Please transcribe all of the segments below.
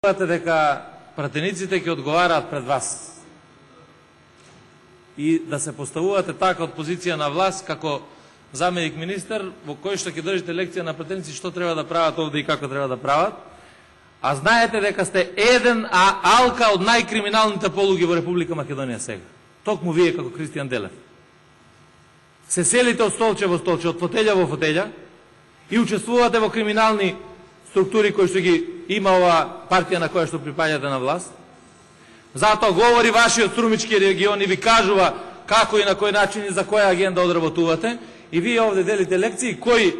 дека пратениците ќе одговараат пред вас и да се поставувате така од позиција на власт како заменик министер во кој што ќе држите лекција на пратеници што треба да прават овде и како треба да прават, а знаете дека сте еден алка од најкриминалните полуги во Република Македонија сега. Токму вие како Кристијан Делев. Се селите од столче во столче, од фотеља во фотеља и учествувате во криминални структури кои што ги има ова партија на која што припаѓате на власт. Затоа говори вашиот струмички регион и ви кажува како и на кој начин и за која агенда одработувате, и вие овде делите лекции кој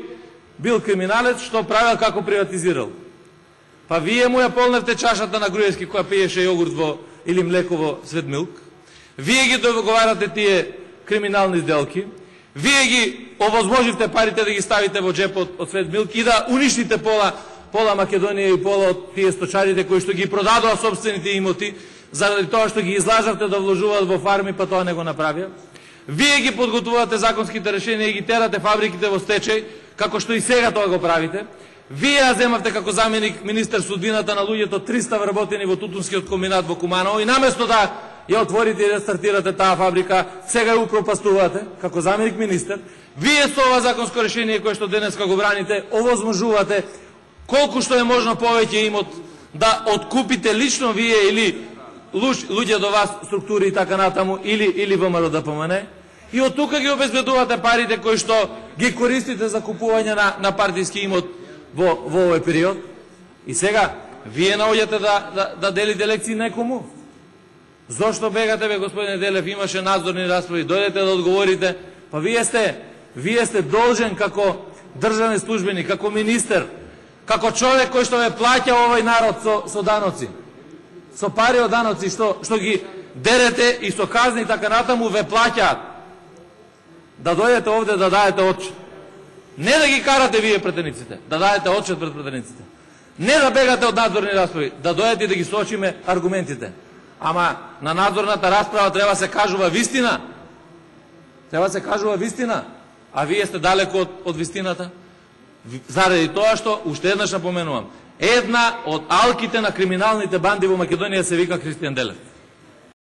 бил криминалец, што правил, како приватизирал. Па вие му ја полневте чашата на Груевски која пиеше јогурт во или млеко во Светмилк. Вие ги договарате тие криминални сделки. Вие ги овозможивте парите да ги ставите во джепот од Светмилк и да уништите пола Македонија и пола од тие сточарите кои што ги продадоа собствените имоти заради тоа што ги излажавте да вложуваат во фарми, па тоа не го направија. Вие ги подготвувате законските решенија и ги терате фабриките во стечај, како што и сега тоа го правите. Вие ја земавте како заменик министер судбината на луѓето 300 вработени во Тутунскиот комбинат во Куманово и наместо да ја отворите и рестартирате таа фабрика, сега ја упропастувате како заменик министер. Вие со ова законско решение кое што денеска го браните, овозможувате колку што е можно повеќе имот да откупите лично вие или луѓе до вас, структури и така натаму, или ВМРО ДПМН, и од тука ги обезбедувате парите кои што ги користите за купување на партиски имот во овој период. И сега, вие наоѓате да делите лекции некому. Зошто бегате, бе, господине Делев, имаше надзорни расправи, дојдете да одговорите, па вие сте должен како државен службеник, како министер, како човек кој што ве плаќа овој народ со даноци, со пари од даноци што ги дерете и со казни и така натаму ве плаќаат, да дојдете овде да даете отчет. Не да ги карате вие пратениците, да даете отчет пред пратениците. Не да бегате од надзорни расправи, да дојдете и да ги соочиме аргументите. Ама на надзорната расправа треба се кажува вистина. Треба се кажува вистина. А вие сте далеко од вистината. Заради тоа што, уште еднаш напоменувам, една од алките на криминалните банди во Македонија се вика Кристијан Делев.